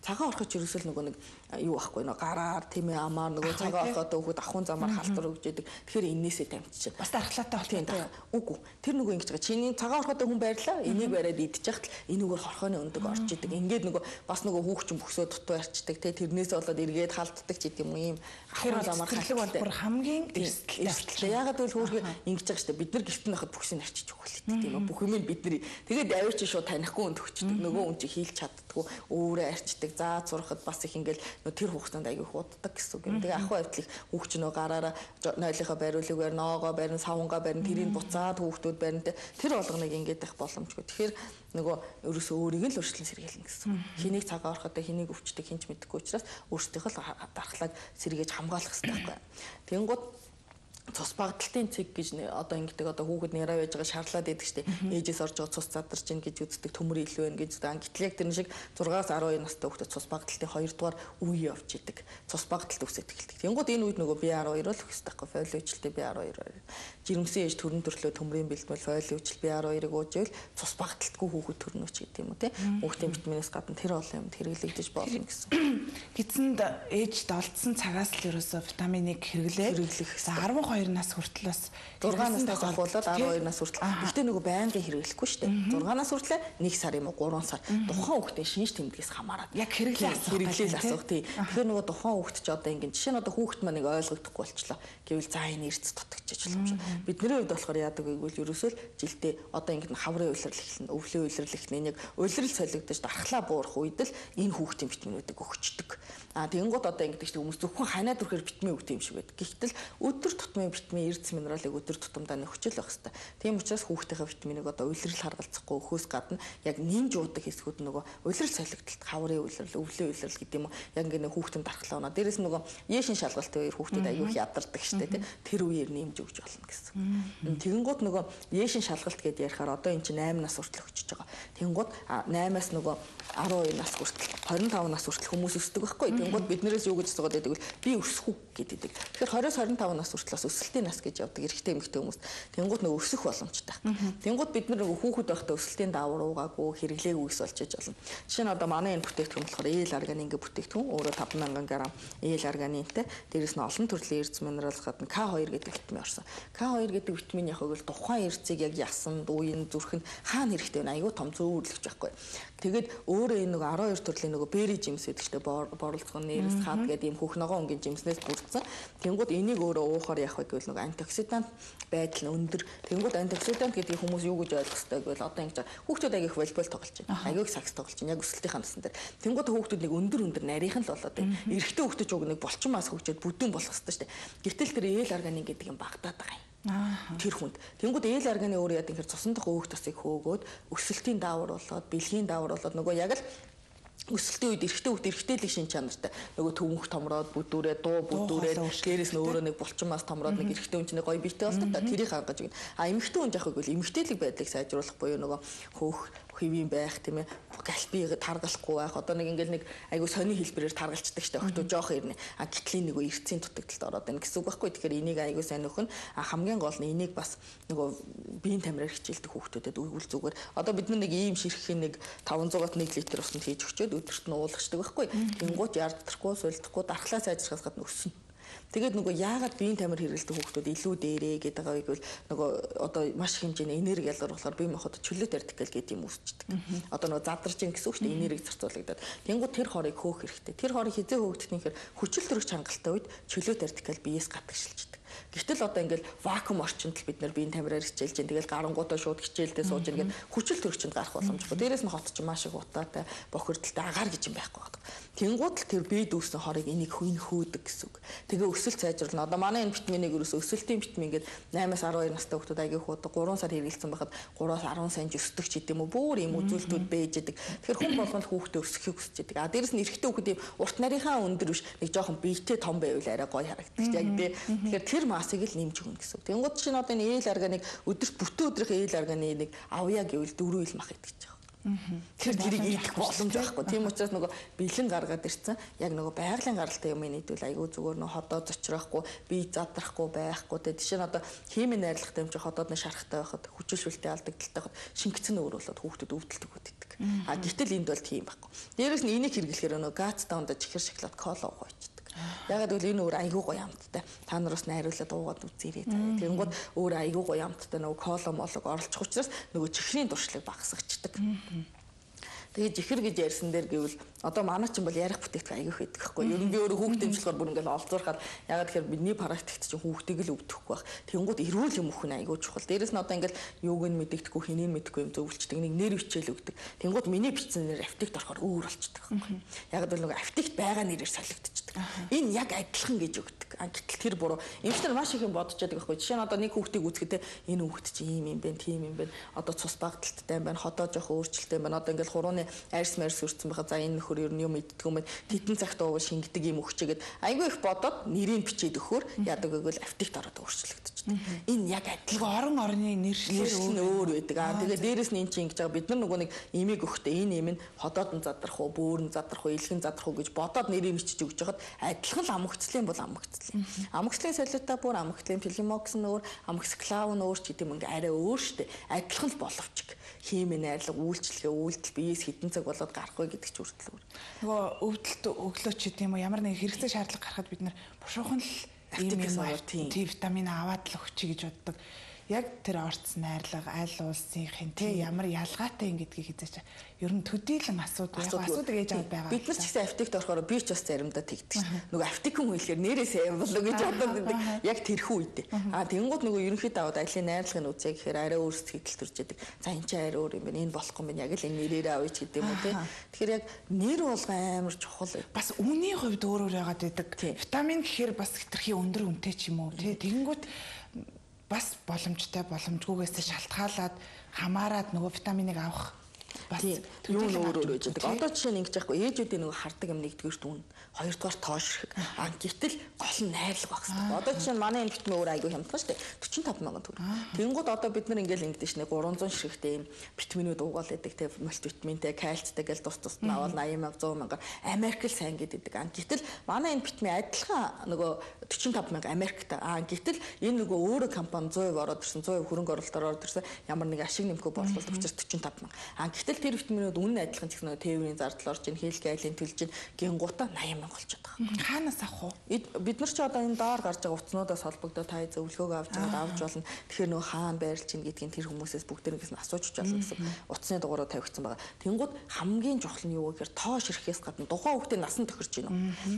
Цагаан орхоч ерөөсөл нөгөө нэг юу байхгүй нөгөө гараар тийм ээ амаар нөгөө цагаан орхоод өгөхөд ахын замаар халтар өгч идэг. Тэгэхээр энээсээ тамчиж. Бас дархлаатай болтой. Үгүй. Тэр нөгөө ингэж байгаа. Чиний цагаан орхоод хүн байрлаа. Энийг бариад идчих хахад энэгээр хорхооны өндөг орж идэг. Ингээд нөгөө бас нөгөө хүүхчин бөхсөө дутуу арчдаг те тэрнээс болоод эргээд халддаг ч гэдэм юм. Ахын замаар халтар бол хамгийн эрсдэлтэй. Ягаад гэвэл хүүхгээ ингэж байгаа штэ бид нар гэртэн байхад бүхсийг арчиж өгөх л тийм ээ. Бүх юм бидний. Тэгээд авир чи шууд танихгүй өнд өгчдөг. Нөгөө хүн чи хийлч чаддгүй өөрөө арчдаг. Заа зурхад бас их ингээл тэр хүүхдэнд аягүй хууддаг гэсэн үг юм. Тэгээ ахуй автлыг хүүхч нөө гараараа нойлынхаа бариулыг барь, ноогоо барь, савнгаа барь, тэрийг буцаад хүүхдүүд барь. Тэр болгоныг ингээд байх боломжгүй. Тэгэхээр нөгөө ерөөсөө өөрийг л өөрчлөн сэргийлнэ гэсэн. Хэнийг цагаан ороход хэнийг өвчдөг хинч мэдэхгүй учраас өөрсдийнхөө дархлааг сэргээж хамгаалах хэрэгтэй байхгүй. Тэнгууд цус багталтын цэг гэж одоо ингэдэг одоо хүүхэд нэраа байж байгаа шаарлаад идэг штеп ээжээс орж байгаа цус задарч ийн гэж үздэг төмөр илүү байна гэж үздэг. Гэтэл яг тэр шиг 6-аас 12 настай хүүхэд цус багталтын 2 дугаар үе явж идэг. Цус багталт үсэж эхэлдэг. Тэнгууд энэ үед нөгөө B12 л өгөх хэрэгтэй байхгүй фолиочлтэй B12. Жирэмсэн ээж төрөн төрлөө төмрийн бэлтмэл фолиочл B12-ыг уужвэл цус багталтгүй хүүхэд төрнөч гэдэг юм уу те. Хүүхдийн витаминээс гадна тэр олон юмд хэрэглэгдэж болно гэсэн. Гидсэнд ээжд олдсон цагаас л ерөөсөө витаминыг хэрэглэх. За 12 нас хүртэл бас 6 наснаас ахуулаад 12 нас хүртэл. Гэхдээ нөгөө байнгын хэрэглэхгүй шүү дээ. 6 нас хүртэл 1 сар юм уу 3 сар. Тухайн хүүхдийн шинж тэмдгээс хамаарат яг хэрэглээ асуух тий. Тэгэхээр нөгөө тухайн хүүхд ч одоо ингэ жишээ нь одоо хүүхд маань нэг ойлгохдохгүй болчлоо. Гэвэл за энэ эрдэс дутагчиж болох юм шиг. Бидний хувьд болохоор яадаг вэ гэвэл ерөөсөө л жилдээ одоо ингэ хаврын уйлрал эхлэн, өвлийн уйлрал эхлэн яг уйлрал солигдож дархлаа буурах үед л энэ хүүхдийн витаминуудыг өгчдөг. Тэнгууд одоо ингэдэг чинь хүмүүс зөвхөн ханаад өрхөөр витамин өгдөг юм шиг байдаг. Гэхдээ өдөр тутмын витамин, эрдэс минералыг өдөр тутамдаа нөхчл байх хэрэгтэй. Тийм учраас хүүхдийнхээ витаминыг одоо уйлрал харгалзахгүй өхөөс гадна яг нэмж уудаг хэсгүүд нөгөө уйлрал солигдолт, хаврын уйлрал, өвлийн уйлрал гэдэг юм уу. Яг ингэ хүүхдийн дархлаа оноо. Дээрээс нөгөө яшин шалгалтын үеэр хүүхдүүд аюух ядардаг штэ тий. Тэр үеэр нэмж өгч болно гэсэн. Тэгэнгүүт нөгөө яшин шалгалт гэдээ ярихаар одоо эн чинь 8 нас хүртэл өгчөж байгаа. Тэгэнгүүт 8-аас нөгөө 12 нас хүртэл 25 нас хүртэл хүмүүс өсдөг байхгүй. Тэгэнгүүт биднээс юу гэж асуугаад байдаг вэ? Би өсөх үү гэдэг. Тэгэхээр 20-25 нас хүртэл бас өсөлтийн нас гэж явдаг эрэгтэй эмэгтэй хүмүүс. Тэгэнгүүт нөгөө өсөх боломжтой. Тэгэнгүүт бид нар нөгөө хүүхэд байхдаа өсөлтийн даавар уугаагүй хэрэглээгүй ус болж болно. Жишээ нь одоо манай энэ бүтээгдэхүүн болохоор ээл арганы ингээ бүтээгдэхүүн өөрөө 5000 г ээл арганинтай. Дээрээс нь олон төрлийн эрдэс минерал гадна К2 гэдэг витамин орсон. К2 гэдэг витамин яг л тухайн эрдэсийг яг ясанд, уян, зүрхэнд хаана хэрэгтэй вэ? Аюу том зөөвөрлөгч байхгүй. Тэгээд өөрөө энэ нөгөө 12 төрлийн нөгөө бери жимс гэдэг чинь борлцгон нэрс хаад гэдэг юм хөх ногоон өнгийн жимснээс бүрдсэн. Тэнгүүд энийг өөрөө уухаар яах вэ гэвэл нөгөө антиоксидант байдал нь өндөр. Тэнгүүд антиоксидант гэдэг хүмүүс юу гэж ойлгох хэрэгтэй гэвэл одоо ингэж хүүхдүүд агих волейбол тоглож байна. Агих сакс тоглож байна. Яг өсөлтийн насан дээр. Тэнгүүд хүүхдүүд нэг өндөр нарийнхан л болоод байна. Эрэгтэй хүүхдүүд ч уг нэг булчин мас хөгжөөд бүдүүн болох хэрэгтэй шүү дээ. Гэтэл тэр ээл арганин гэдэг юм багтаад байгаа юм. Тэр хүнд. Тэнгүүд ээл арганы өөр яа гэхээр цусан дах өөх тосыг хөөгөөд өсөлтийн даавар болоод бэлгийн даавар болоод нөгөө яг л өсөлтийн үед эрэгтэй хүүхд эрэгтэйлэг шин чанартай нөгөө төвөнх томроод бүдүүрээ дуу бүдүүрээд дээрээс нь өөрөө нэг булчин мас томроод нэг эрэгтэй хүн чинь гоё биетэй болдог та тэрийг хангаж өгнө. Эмэгтэй хүн яах вэ гэвэл эмэгтэйлэг байдлыг сайжруулах буюу нөгөө хөөх хэвийн байх тийм ээ галпиг таргалахгүй байх одоо нэг ингээл нэг айгу сони хэлбэрээр таргалцдаг штэ өгтөө жоох ирнэ гитлийн нэг эрцийн дутагдалд ороод байна гэсэн үг байхгүй. Тэгэхээр энийг айгу сайн нөхөн хамгийн гол нь энийг бас нөгөө биеийн тамираар хичээлдэг хүүхдүүдэд үйл зүгээр одоо бид нэг ийм ширхгийн нэг 500-аад 1 литр усанд хийж өгчөөд өдөрт нь уулгачдаг байхгүй. Тэнгуут яардахгүй сулдахгүй дархлаа сайжрахаас гадна өснө. Тэгээд нөгөө яагаад биеийн тамир хэрэглэдэг хүүхдүүд илүү дээрээ гэдэг байгаа гэвэл нөгөө одоо маш хэмжээний энерги ялгаруулахаар бие махбод чөлөөт ардикал гэдэг юм үүсчдэг. Одоо нөгөө задарч ин гэсэн үг шүү дээ энерги зарцуулагдаад. Тэнгууд тэр хорыг хөөх хэрэгтэй. Тэр хорыг хизээ хөөгдөх нь гэхээр хүчил төрөх чангалтай үед чөлөөт ардикал биеэс гадагшилждэг. Гэтэл одоо ингээл вакуум орчинд л бид нар биеийн тамираар хичээлж जैन тэгэл гарангуудаа шууд хичээлдээ сууж ингээд хүчил төрөгчөнд гарах боломжтой. Дээрээс нь хот ч маш их утаатай бохирдолтой агаар гэж юм байхгүй байна. Тэнгууд л тэр бие дүүсэн хорыг энийг хөөдөг гэсэн үг. Тэгээ өсөлт сайжруулна. Одоо манай энэ витаминыг ерөөсөө өсөлтийн витамин ингээд 8-аас 12 настай хүүхдүүд аягүй хуудаг 3 сар хэрэгэлсэн байхад 3-аас 10 сая өсдөг ч гэдэм үү бүр юм үзүүлэлтүүд байж идэг. Тэгэхээр хүн болгонд хүүхдээ өсөхийг хүсэж идэг. Дээрээс нь эрэгтэй хүүхэд юм урт нарийнхаа өндөр биш нэг жоохон биетэй том байвал арай гоё харагддаг. Яг тий. Тэгэхээр тэр масыг л нэмж өгнө гэсэн үг. Тэнгууд чинь одоо энэ ээл арганыг өдөрт бүтэн өдрийнхөө ээл арганы нэг авъя гэвэл 4 ил мах идэх гэж байгаа. Тэр тэрийг идэх боломж байхгүй. Тийм учраас нөгөө бэлэн гаргаад ирсэн. Яг нөгөө байгалийн гаралтай юм нийтвэл айгүй зүгээр нөгөө ходоо зочроохгүй, бие задрахгүй байхгүй. Тэгээ жишээ нь одоо химийн найрлагтай юм чи ходоод нь шарахтай байхад хүчилшүүлтэй алдагдaltaй байхад шингэцэн өөрөөлөд хүүхдэд өвдөлтөг үүдэг. Гэтэл энд бол тийм байхгүй. Дээрээс нь энийг хэрэглэхээр нөгөө гац даунда чихэр шоколад кола уугаачдаг. Ягаад гэвэл энэ өөр айгүй гоё амттай. Та нараас найруулаад уугаад үзээрэй. Тэгэнгүүт өөр айгүй гоё амттай нөгөө кола молог оролцох учраас нөгөө чихрийн дуршлаг багасгачдаг. Тэгээд жихэр гэж ярьсан дээр гэвэл одоо манай ч юм бол ярих бүтээгдэхүүн аягүй их байдаг байхгүй. Ер нь би өөрөө хүүхдээ дэмжлэхээр бүр ингээл олзуурахаар ягаад тэгэхээр бидний практикт чинь хүүхдийг л өвдөхгүй байх. Тэнгүүд эрүүл юм өхөн аягүй чухал. Дээрээс нь одоо ингээл юуг нь мэддэгдэхгүй хэнийг мэддэггүй юм зөвлөчдөг. Нэг нэр бичээл өгдөг. Тэнгүүд миний бичсэн нэр аптект орохоор өөр болчихдог байхгүй. Ягаад гэвэл нөгөө аптект байгаа нэрээр солигдчихдаг. Энэ яг адилхан гэж өгдөг. үздэг. Гэтэл тэр буруу. Эмчнэр маш их юм бодож байдаг байхгүй. Жишээ нь одоо нэг хүүхдийг үзэхдээ энэ хүүхд чинь ийм юм бэ, тийм юм бэ. Одоо цус багталттай юм байна, ходоо жоох өөрчлөлттэй юм байна. Одоо ингээл хурууны арьс марьс өрцөн байхад за энэ нөхөр ер нь юм иддэг юм байна. Титэн цагт ууг шингэдэг юм өгчээгээд айгүй их бодоод нэрийг бичээд өгөхөөр яадаг гэвэл автикт ороод өөрчлөгдөж. Энэ яг адилхан орны нэршлэр өөр байдаг. Тэгээд дээрэс нь эн чинь ингэж байгаа бид нар нөгөө нэг имийг өгөхдөө энэ юм нь ходоод нь задрах уу, бөөрн задрах уу, илхэн задрах уу гэж бодоод нэрийг бичиж өгч хахад адилхан л амгцлын бол амгцлын. Амгцлын солиота бүр амгцлын филимокс нь өөр, амгсклав нь өөр ч гэдэг юм ингээ арай өөр штэ. Адилхан л боловч химийн найрлага, үйлчлэгээ, үйлдэл биеэс хэдэн цаг болоод гарах вэ гэдэг ч хүртэл өөр. Нөгөө өвдөлт өглөөч гэдэг юм уу ямар нэг хэрэгцээ шаардлага гарахад бид нар бушуухан л ийм витамин аваад л өгчий гэж боддог. Яг тэр орц найрлага аль улсынхын ямар ялгаатай юм гэдгийг хизээч ер нь төдийлөн асуудаг ээж аваад байгаа. Бид нар ч гэсэн аптект орохоор би ч бас заримдаа тэгдэг шин. Нөгөө аптекэн хэлэхээр нэрээсээ юм болоо гэж бодоод байдаг. Яг тэрхүү үедээ. Тэнгууд нөгөө ерөнхийдөө аваад айлын найрлагын үзье гэхээр арай өөр сэтгэл төрж яадаг. За энэ ч арай өөр юм байна. Энэ болохгүй юм яг л энэ нэрээрээ авъя гэдэг юм уу те. Тэгэхээр яг нэр болгоо амар чухал. Бас үнийн хувьд өөр яагаад байдаг. Витамин гэхээр бас хэтэрхий өндөр үнэтэй ч юм уу те. Тэнгууд бас боломжтой боломжгүйгээс шалтгаалаад хамаарад нөгөө витаминыг авах бас юу өөр байж байгаа. Одоо жишээ нь ингэж яахгүй ээжүүдийн нөгөө хардаг юм нэгдүгээр дүн, хоёрдугаар тоош. Гэтэл гол нь найрлага багс. Одоо жишээ нь манай энэ витамин өөр айгүй хямдхан шүү дээ. 45 мянган төгрөг. Тэнгууд одоо бид нар ингээл ингэдэж шнэ 300 ширхтээ юм витаминууд уугаал байдаг те мультивитаминтэй, кальцтэй гэл тус нь аваад 80 мянга 100 мянга Америк л сайн гэдэг. Гэтэл манай энэ витамин адилхан нөгөө 45 мянга Америкт. Гэтэл энэ нөгөө өөрөө компани 100% ороод ирсэн, 100% хөрөнгө оруулалтаар ороод ирсэн ямар нэг ашиг нэмэхгүй борлуулалт учраас 45 мянга. Гэтэл тэр витаминууд үнэн адилхан ч гэсэн нөгөө тээврийн зардал орж ийн, хэл гайлын төлж ийн, гингуута 80 мянга болчиход байгаа. Хаанаас авах вэ? Бид нар ч одоо энэ доор гарч байгаа утаснуудаас холбогдоод та зөвлөгөөгөө авч болно. Тэгэхээр нөгөө хаана байрлж ийн гэдгийг тэр хүмүүсээс бүгдээрээс нь асууж болно гэсэн утасны дугаараа тавигдсан байгаа. Тэнгууд хамгийн чухал нь юу вэ гэхээр тоо ширхээс гадна тухайн хүүхдээ насан тохирч гинэ.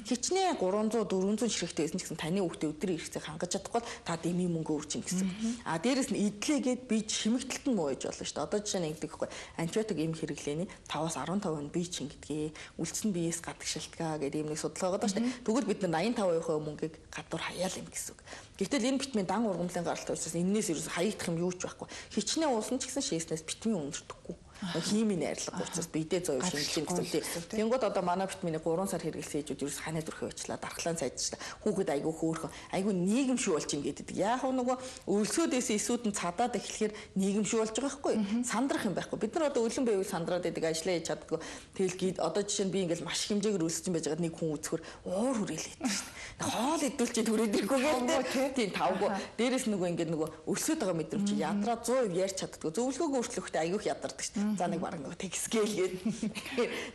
Хичнээн 300 400 ширхтэй байсан ч гэсэн таны хүүхдээ өдрийн хэрэгцээг хангаж чадахгүй та дэмий мөнгө өөрчин гэсэн. Дээрэс нь идлээгээд бие чимэгдэлт нь муу байж болно шүү дээ. Одоо жишээ нь ингэдэг байхгүй. Антибиотик эм хэрэглээний 5-аас 15% бие чингэдгээ, үлдсэн биеэс гадаг шалтгаа гэдэг юм нэг судалгаа байгаа шүү дээ. Тэгвэл бид нар 85% мөнгийг гадуур хаяал юм гэсэн үг. Гэтэл энэ витамин дан ургамлын гаралтай учраас энэс ерөөс хаягдах юм юу ч байхгүй. Хичнээн уусан ч гэсэн шээснээс витамин өндөрдөхгүй. Химийн найрлага учраас бидээ 100% шинжилж гэсэн. Тэнгууд одоо манай витамины 3 сар хэрэглэсэн ээжүүд ерөөс ханаа дүрхээ очлаа, дархлаан сайжчлаа. Хүүхэд айгүй хөөрхөн, айгүй нийгэмшүү болж ин гэдэг. Яг нөгөө өлсөөдөөс эсүүд нь цадаад эхлэхээр нийгэмшүү болж байгаа байхгүй. Сандрах юм байхгүй. Бид нар одоо өлөн байвал сандраад байдаг, ажиллаа хийж чаддгүй. Тэгэл одоо жишээ нь би ингээл маш хэмжээгээр өлсөж байж байгаад нэг хүн үзэхөр уур хүрээлээд шүү дээ. Хоол идүүлчих түрээд ирэхгүй гэдэг. Тийм тавгүй. Дээрээс нөгөө ингээд нөгөө өлсөд байгаа мэдрэмж ядраа 100% ярьж чаддгүй. Зөвлөгөөгөө өөрчлөхтэй айгүйх ядардаг шүү дээ. За нэг бараг нөгөө текскэл гээд.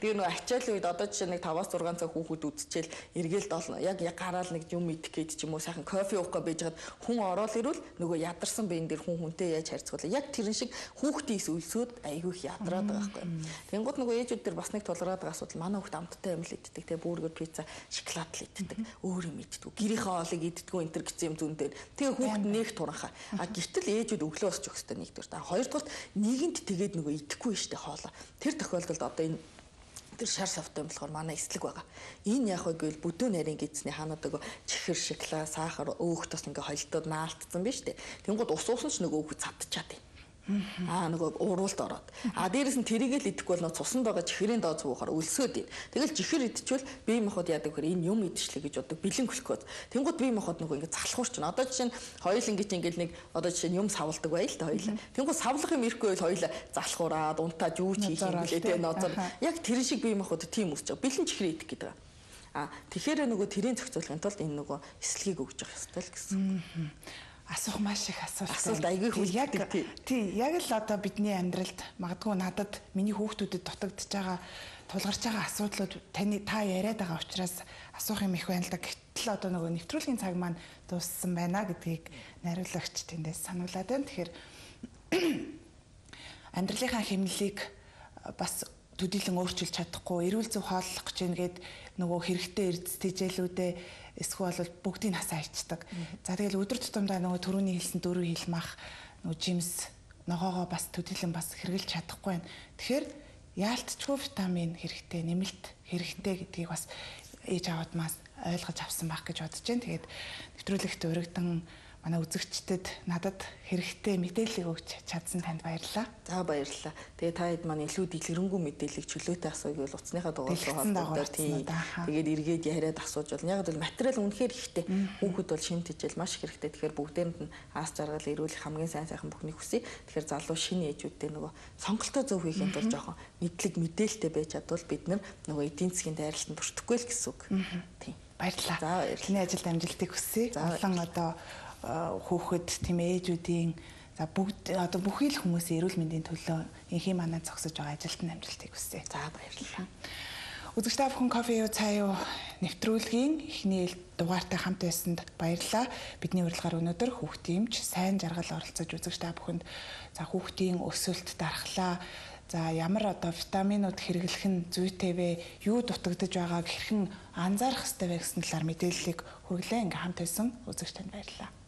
Тэгээ нөгөө ачаалын үед одоо жишээ нэг 5-6 цаг хүүхэд үдчихэл эргээл долно. Яг гараал нэг юм идэх гээд ч юм уу сайхан кофе уух гэж байжгаад хүн ороод ирвэл нөгөө ядарсан биен дээр хүнтэй яаж харьцуулаа. Яг тэрэн шиг хүүхдийн өлсөд айгүйх ядраад байгаа байхгүй. Тэнгууд нөгөө ээжүүд дээр бас нэг тулгараад байгаа асуудал манай хүүхд амттай юм л иддэг. Тэгээ бургер, пицца, шоколад л иддэг. Өөр юм иддэг. Гэрийнхээ хоолыг иддэггүй энэ төр гэсэн юм зүүн дээр. Тэгээ хүүхд нэг туранхаа. Гэтэл ээжүүд өглөө босч өгөх хэрэгтэй нэгдүгээр. Хоёрдугаар нийгэмд тэгээд нөгөө идэхгүй штэ хоолоо. Тэр тохиолдолд одоо энэ тэр шар савтай болохоор манай эслэг байгаа. Энэ яг үгүй бүдүүн нарийн гидсний хаанууд нөгөө чихэр, шоколад, сахар өөх тус ингээ холдоод наалтсан биз дээ. Тэнгууд ус уусан ч нөгөө хүүхэд цадчихад юм. Нөгөө уруулд ороод. Дээрээс нь тэрийгэл идэхгүй бол нөө цуснд байгаа чихрийн дооц буухаар өлсөөд ийн. Тэгэл чихэр идчихвэл бие махбод яадаг вэхээр энэ юм идчихлээ гэж бодог бэлэн глюкоз. Тэнгууд бие махбод нөгөө ингэ залхуурч байна. Одоо жишээ нь хоёул ингэж нэг одоо жишээ нь юм савладаг байл та хоёул. Тэнгууд савлах юм ирэхгүй бол хоёул залхуураад унтаа жүүч хийх юм лээ тэ ноцор. Яг тэр шиг бие махбод тийм үсч байгаа. Бэлэн чихрээ идэх гэдэг. Тэгэхээр нөгөө тэрийн зохицуулахын тулд энэ нөгөө эслэгийг өгж явах ёстой л гэсэн. Асуух маш их асуулт айгүй хүлдэг. Тий, яг л одоо бидний амьдралд магадгүй надад миний хүүхдүүдэд дутагдж байгаа тулгарч байгаа асуудлууд та яриад байгаа учраас асуух юм их байна л да. Гэтэл одоо нөгөө нэвтрүүлгийн цаг маань дууссан байна гэдгийг найруулагч тэндээс сануулад байна. Тэгэхээр амьдралынхаа хэмнэлийг бас төдийлөн өөрчилж чадахгүй, эрүүл зөв хооллох гэж нэгэд нөгөө хэрэгтэй эрдэс тэжээлүүдээ эсвэл бүгдийг насаа ичдэг. За тэгэл өдөр тутамдаа нөгөө төрөний хэлсэн дөрөв хэлмах нөгөө жимс ногоогоо бас төдийлөн бас хэрглэж чадахгүй байна. Тэгэхээр яалтчгүй витамин хэрэгтэй, нэмэлт хэрэгтэй гэдгийг бас ээж аваадмаас ойлгож авсан байх гэж бодож байна. Тэгээд нэвтрүүлэгт урагдан манай үзэгчдэд надад хэрэгтэй мэдээллийг өгч чадсан танд баярлалаа. За баярлалаа. Тэгээ та хэд маань илүү дэлгэрэнгүй мэдээллийг чөлөөтэй асууя гэвэл утасныхаа дугаараар холбогдоод тэгээд эргээд яриад асууж болно. Яг л материал үнэхээр ихтэй. Хүүхэд бол шимт хичээл маш их хэрэгтэй. Тэгэхээр бүгдээрэнд нь аас жаргал ирүүлэх хамгийн сайн сайхан бүхнийг хүсье. Тэгэхээр залуу шинэ ээжүүдтэй нөгөө сонголтоо зөв хийхэд бол жоохон мэдлэг мэдээлэлтэй байж чадвал бид нөгөө эдийн засгийн дайралтанд өртөхгүй л гэсэн үг. Тийм. Баярлалаа. За баярлалаа. Ажилд амжилтыг хүсье. Олон одоо хүүхэд тийм ээжүүдийн за бүгд одоо бүхий л хүмүүсийн эрүүл мэндийн төлөө инхий манаа зогсож байгаа ажилтны амжилтыг хүсье. За баярлалаа. Үзэгч та бүхэн кофе юу цаа юу нэвтрүүлгийн эхний дугаартай хамт байсанд баярлалаа. Бидний урилгаар өнөөдөр хүүхдийн эмч сайн жаргал оролцож үзэгч та бүхэнд за хүүхдийн өсөлт дархлаа за ямар одоо витаминууд хэрэглэх нь зүйтэй вэ? Юу дутагдж байгааг хэрхэн анзаарах ёстой вэ гэсэн талаар мэдээллийг хүргэлээ. Ингээм хамт байсан үзэгч танд баярлалаа.